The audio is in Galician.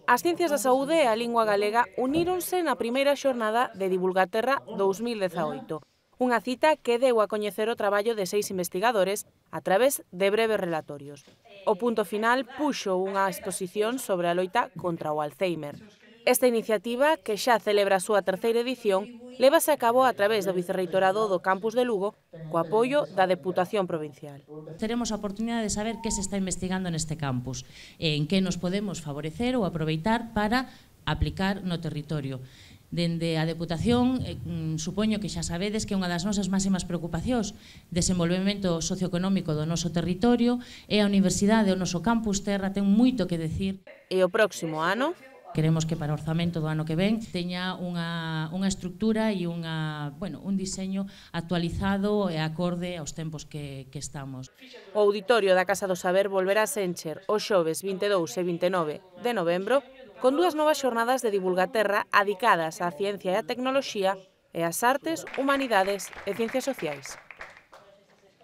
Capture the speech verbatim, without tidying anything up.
As ciencias da saúde e a lingua galega uníronse na primeira xornada de Divulgaterra dous mil dezaoito, unha cita que deu a coñecer o traballo de seis investigadores a través de breves relatorios. O punto final puxo unha exposición sobre a loita contra o Alzheimer. Esta iniciativa, que xa celebra a súa terceira edición, lévase a cabo a través do Vicerreitorado do Campus de Lugo co apoio da Deputación Provincial. Teremos a oportunidade de saber que se está investigando neste campus, en que nos podemos favorecer ou aproveitar para aplicar no territorio. Dende a Deputación, eh, supoño que xa sabedes que unha das nosas máximas preocupacións, desenvolvemento socioeconómico do noso territorio, e a Universidade, o noso campus terra, ten moito que decir. E o próximo ano queremos que para o orzamento do ano que ven teña unha, unha estructura e unha, bueno, un diseño actualizado e acorde aos tempos que, que estamos. O auditorio da Casa do Saber volverá a encher os xoves vinte e dous e vinte e nove de novembro con dúas novas xornadas de Divulgaterra adicadas á ciencia e á tecnoloxía e ás artes, humanidades e ciencias sociais.